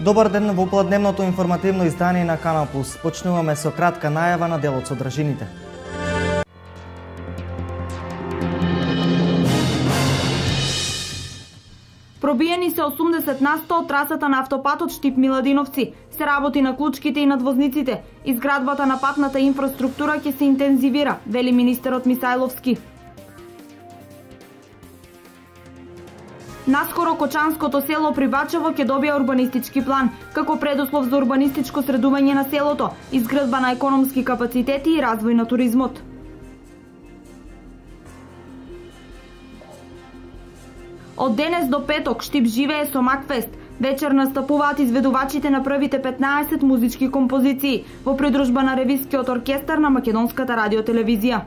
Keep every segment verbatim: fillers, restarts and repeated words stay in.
Добар ден во попладневното информативно издание на Канал Плюс. Почнуваме со кратка најава на дел од содржините. Пробиени се осумдесет на сто од трасата на автопатот Штип-Миладиновци. Се работи на клучките и надвозниците. Изградбата на патната инфраструктура ќе се интензивира, вели министерот Мисајловски. Наскоро Кочанското село при Бачево ќе добија урбанистички план, како предуслов за урбанистичко средување на селото, изградба на економски капацитети и развој на туризмот. Од денес до петок Штип живее со Макфест. Вечер настапуваат изведувачите на првите петнаесет музички композиции во придружба на ревискиот оркестар на Македонската радиотелевизија.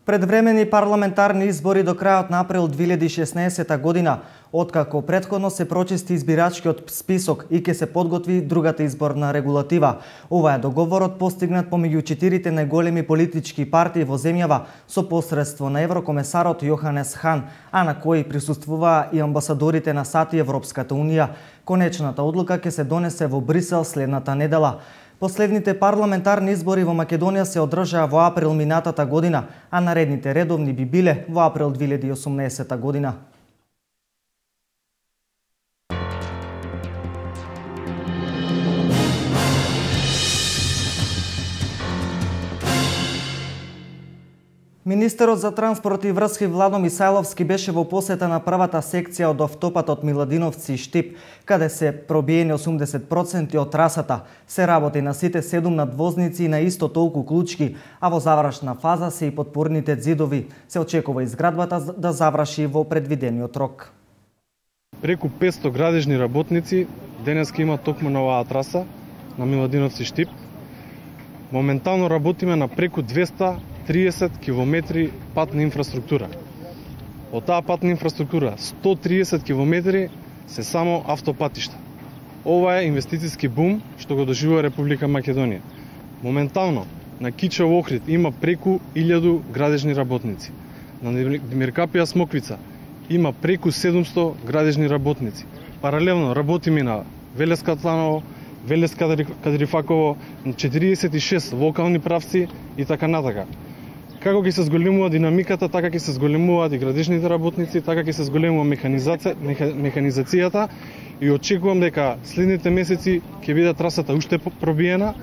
Предвремени парламентарни избори до крајот на април две илјади и шеснаесета година, откако претходно се прочисти избирачкиот список и ќе се подготви другата изборна регулатива. Ова е договорот постигнат помеѓу четирите најголеми политички партии во земјава со посредство на еврокомесарот Јоханес Хан, а на кој присуствуваа и амбасадорите на САД и Европската унија. Конечната одлука ќе се донесе во Брисел следната недела. Последните парламентарни избори во Македонија се одржаа во април минатата година, а наредните редовни би биле во април две илјади и осумнаесета година. Министерот за транспорт и врски Владо Мисајловски беше во посета на првата секција од автопатот Миладиновци Штип, каде се пробиени осумдесет проценти од трасата. Се работи на сите седум надвозници и на исто толку клучки, а во завршна фаза се и подпорните ѕидови. Се очекува изградбата да заврши во предвидениот рок. Преку петсто градежни работници денеска има токму на оваа траса на Миладиновци Штип. Моментално работиме на преку двесте и триесет километри патна инфраструктура. Од таа патна инфраструктура сто и триесет километри се само автопатишта. Ова е инвестициски бум што го доживува Република Македонија. Моментално на Кичево Охрид има преку илјаду градежни работници. На Димиркапија Смоквица има преку седумсто градежни работници. Паралелно работиме на Велеска Тланово, Велеска Кадрифаково, четириесет и шест локални правци и така натака. Како ќе се зголемува динамиката, така ќе се зголемуваат и градежните работници, така ќе се зголемува механизација, механизацијата и очекувам дека следните месеци ќе биде трасата уште пробиена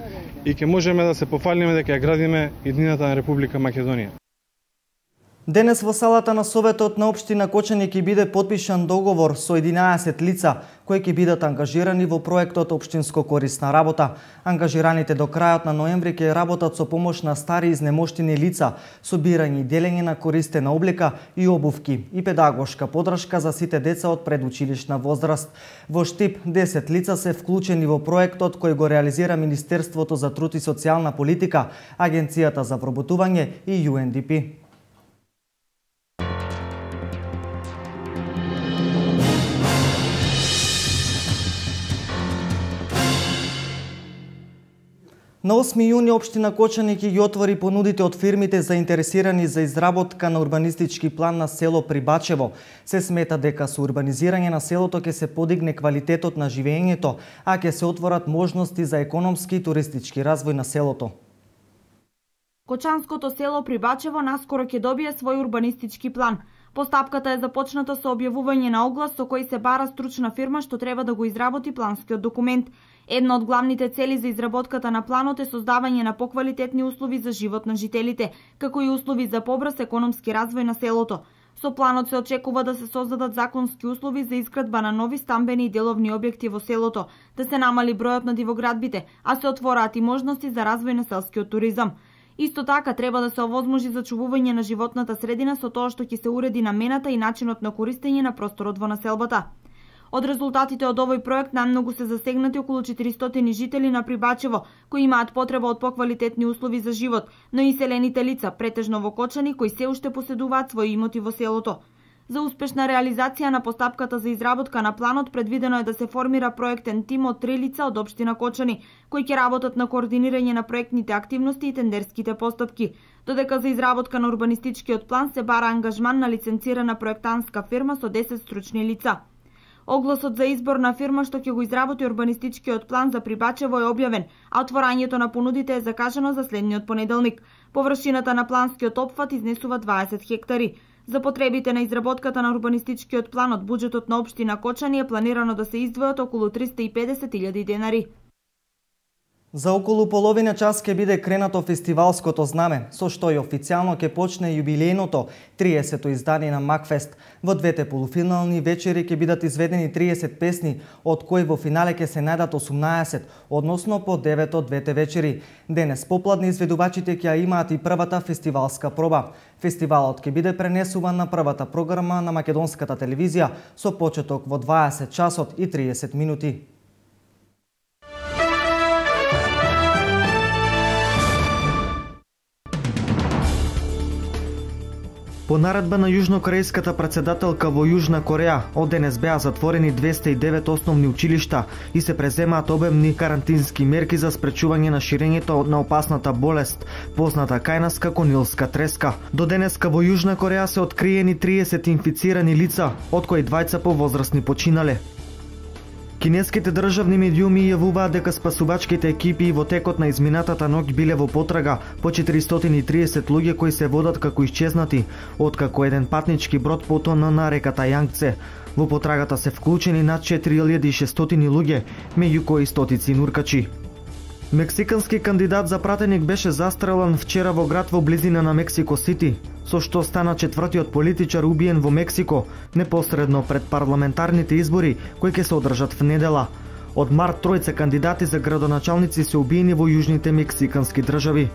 и ќе можеме да се пофалиме дека ја градиме иднината на Република Македонија. Денес во салата на Советот на општина Кочани ќе биде подпишан договор со единаесет лица кои ќе бидат ангажирани во проектот Општинско корисна работа. Ангажираните до крајот на ноември ќе работат со помош на стари изнемоштени лица, собирање и делење на користена облека и обувки и педагошка подршка за сите деца од предучилишна возраст. Во Штип десет лица се вклучени во проектот кој го реализира Министерството за труд и социјална политика, Агенцијата за вработување и Ю Ен Ди Пи. На осми јуни општина Кочани ќе ги отвори понудите од фирмите заинтересирани за изработка на урбанистички план на село Прибачево. Се смета дека со урбанизирање на селото ќе се подигне квалитетот на живеењето, а ќе се отворат можности за економски и туристички развој на селото. Кочанското село Прибачево наскоро ќе добие свој урбанистички план. Постапката е започната со објавување на оглас со кој се бара стручна фирма што треба да го изработи планскиот документ. Една од главните цели за изработката на планот е создавање на поквалитетни услови за живот на жителите, како и услови за побрз економски развој на селото. Со планот се очекува да се создадат законски услови за изградба на нови стамбени и деловни објекти во селото, да се намали бројот на дивоградбите, а се отвораат и можности за развој на селскиот туризам. Исто така треба да се овозможи зачувување на животната средина со тоа што ќе се уреди намената и начинот на користење на просторот во населбата. Од резултатите од овој проект најмногу се засегнати околу четиристотини жители на Прибачево, кои имаат потреба од поквалитетни услови за живот, но и селените лица, претежно во Кочани, кои се уште поседуваат своји имоти во селото. За успешна реализација на постапката за изработка на планот предвидено е да се формира проектен тим од три лица од општина Кочани, кои ќе работат на координирање на проектните активности и тендерските постапки. додека за изработка на урбанистичкиот план се бара ангажман на лиценцирана проектантска фирма со десет стручни лица. Огласот за избор на фирма што ќе го изработи урбанистичкиот план за Прибачево е објавен, а отворањето на понудите е закажано за следниот понеделник. Површината на планскиот опфат изнесува дваесет хектари. За потребите на изработката на урбанистичкиот план од буџетот на општина Кочани е планирано да се издвојат околу триста и педесет илјади денари. За околу половина час ќе биде кренато фестивалското знаме, со што и официјално ќе почне јубилејното триесето издание на Макфест. Во двете полуфинални вечери ќе бидат изведени триесет песни, од кои во финале ќе се најдат осумнаесет, односно по девет од двете вечери. Денес попладне изведувачите ќе имаат и првата фестивалска проба. Фестивалот ќе биде пренесуван на првата програма на македонската телевизија со почеток во дваесет часот и триесет минути. По наредба на јужнокорејската претседателка во Јужна Кореја, од денес беа затворени двесте и девет основни училишта и се преземаат обемни карантински мерки за спречување на ширењето на опасната болест, позната кај нас како нилска треска. До денеска во Јужна Кореја се откриени триесет инфицирани лица, од кои двајца повозрасни починале. Кинеските државни медиуми јавуваат дека спасувачките екипи во текот на изминатата ноќ биле во потрага по четиристотини и триесет луѓе кои се водат како исчезнати, откако еден патнички брод потона на реката Јангце. Во потрагата се вклучени над четири илјади и шестстотини луѓе, меѓу кои стотици нуркачи. Мексикански кандидат за пратеник беше застрелан вчера во град во близина на Мексико Сити, со што стана четвртиот политичар убиен во Мексико, непосредно пред парламентарните избори кои ќе се одржат в недела. Од март тројца кандидати за градоначалници се убиени во јужните мексикански држави.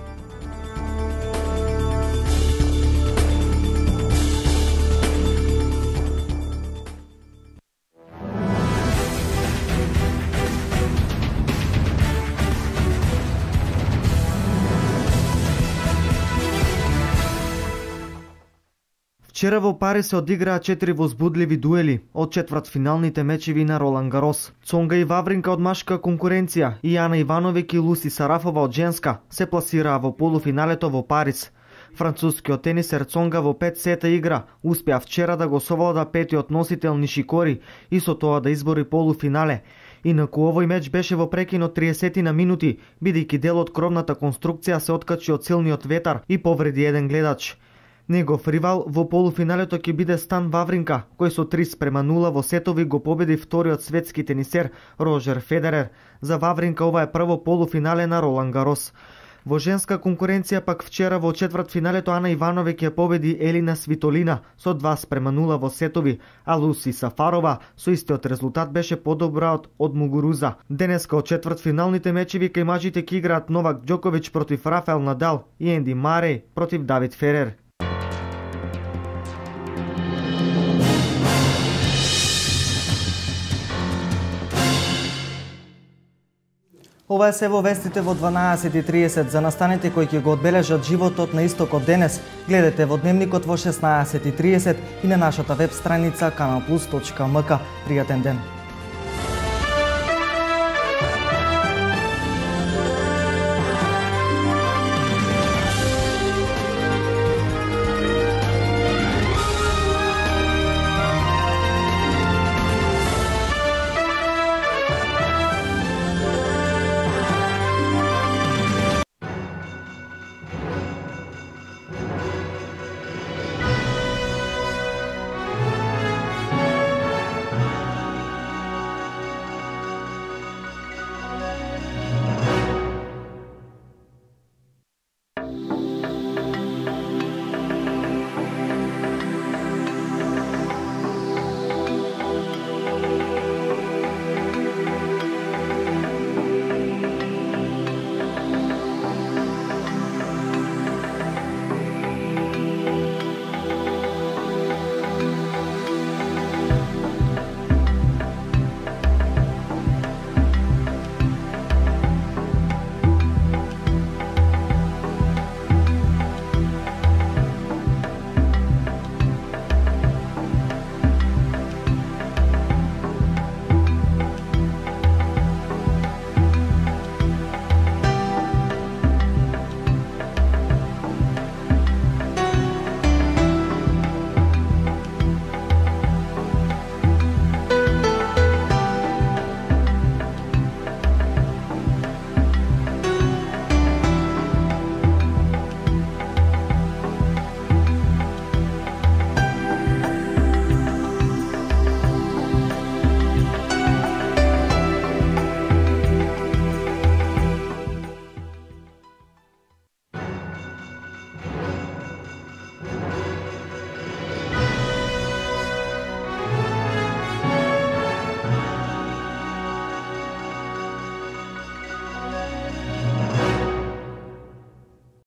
Вчера во Париз се одиграа четири возбудливи дуели од четвртфиналните мечеви на Ролан Гарос. Цонга и Вавринка од машка конкуренција и Ана Ивановиќ и Луси Сарафова од женска се пласираа во полуфиналето во Париз. Францускиот тенисер Цонга во пет сета игра успеа вчера да го совлада петиот носител Нишикори и со тоа да избори полуфинале. Инаку овој меч беше во прекинот триесет на минути, бидејќи дел од кровната конструкција се откачи од силниот ветар и повреди еден гледач. Негов ривал во полуфиналето ќе биде Стан Вавринка, кој со три спрема нула во сетови го победи вториот светски тенисер Рожер Федерер. За Вавринка ова е прво полуфинале на Ролан Гарос. Во женска конкуренција пак вчера во четвртфиналето Ана Ивановиќ ќе победи Елина Свитолина со два спрема нула во сетови, а Луси Сафарова со истиот резултат беше подобра од, од Мугуруза. Денеска од четвртфиналните мечеви кај мажите ќе играат Новак Ѓоковиќ против Рафаел Надал и Енди Мареј против Давид Ферер. Ова е се во вестите во дванаесет и триесет. За настаните кои ќе го одбележат животот на истокот денес, гледате во Дневникот во шеснаесет и триесет и на нашата веб страница канал плюс точка ем ка. Пријатен ден!